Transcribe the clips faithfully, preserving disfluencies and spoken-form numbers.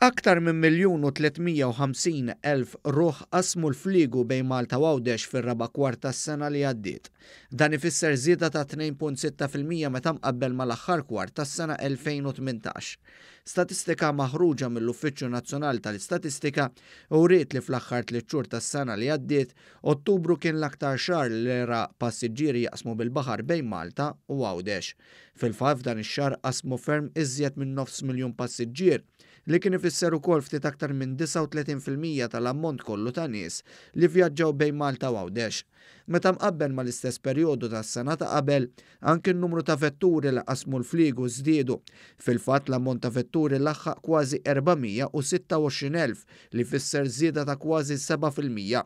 Aktar minn miljun u tliet mija u ħamsin elf ruħ qasmu l-fliegu bejn Malta u Għawdex fir-raba' kwart tas-sena li għaddiet. Dan ifisser żieda ta' tnejn punt sitta fil-mija meta mqabbel mal-aħħar kwart tas-sena elfejn u tmintax. Statistika maħruġa mill-Uffiċċju Nazzjonali tal-Istatistika uriet li fl-aħħar tliet xhur tas-sena li għaddiet, Ottubru kien l-aktar xahar li ra passiġġieri jaqsmu bil-baħar bejn Malta u Għawdex. Fil-fatt f'dan ix-xahar qasmu ferm iżjed minn nofs miljun passiġġier, li kien ifisser ukoll ftit aktar minn disgħa u tletin fil-mija tal-ammont kollu ta' nies li vjaġġaw bejn Malta u Għawdex. Meta mqabbel mal-istess perjodu tas-sena ta' qabel, anki n-numru ta' vetturi li qasmu l-fliegu żdiedu. Fil-fatt l-ammont ta' vetturi laħħaq kważi erba' mija u sitta u għoxrin elf li fisser żieda ta' kważi seba' fil-mija.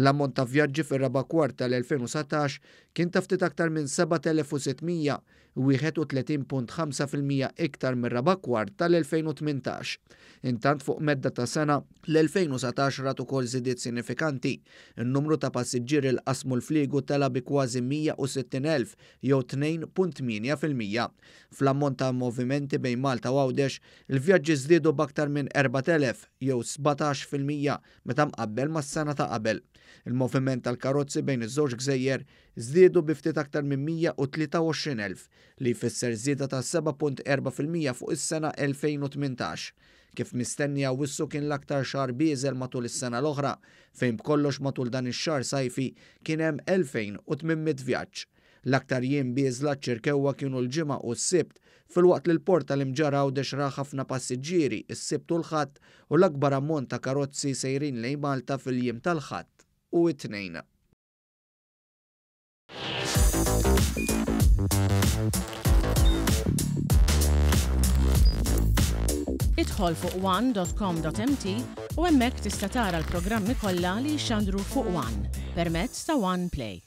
L-ammont ta' vjaġġi fir-raba' kwart tal-elfejn u satax kien ta' ftit aktar minn seba' telef u sitt mija, wieħed u tletin punt ħamsa fil-mija iktar mir-raba' kwart tal-elfejn u tmintax. Intant fuq medda ta' sena, l-elfejn u satax rat ukoll żidiet sinifikanti. In-numru ta' passiġġieri li qasmu l-fliegu tela bi kważi mija u sittin elf jew tnejn punt tmienja fil-mija. Fl-ammont ta' movimenti bejn Malta u Għawdex, il-vjaġġi żdiedu b'aktar minn erba' telef jew sbatax fil-mija meta mqabbel mas-sena ta' qabel. Il-moviment tal-karozzi bejn iż-żewġ gżejjer żdiedu bi ftit aktar minn mija u tlieta u għoxrin elf, li jfisser żieda ta' seba' punt erba' fil-mija fuq is-sena elfejn u tmintax. Kif mistenni Awwissu kien l-aktar xahar bieżel matul is-sena l-oħra, fejn b'kollox matul dan ix-xahar sajfi kien hemm elfejn u tmien mitt vjaġġ. L-aktar jiem bieżla ċ-Ċirkewwa kienu l-Ġimgħa u s-Sibt, filwaqt li l-port tal-Imġarr Għawdex ra ħafna passiġġieri s-Sibt u l-Ħadd u l-akbar ammont ta' karozzi sejrin lejn Malta fil-jiem tal-Ħadd u t-Tnejn. Idħol fuq one dot com dot m t u hemmhekk tista' tara l-programmi kollha li jxandru fuq One permezz ta' One Play.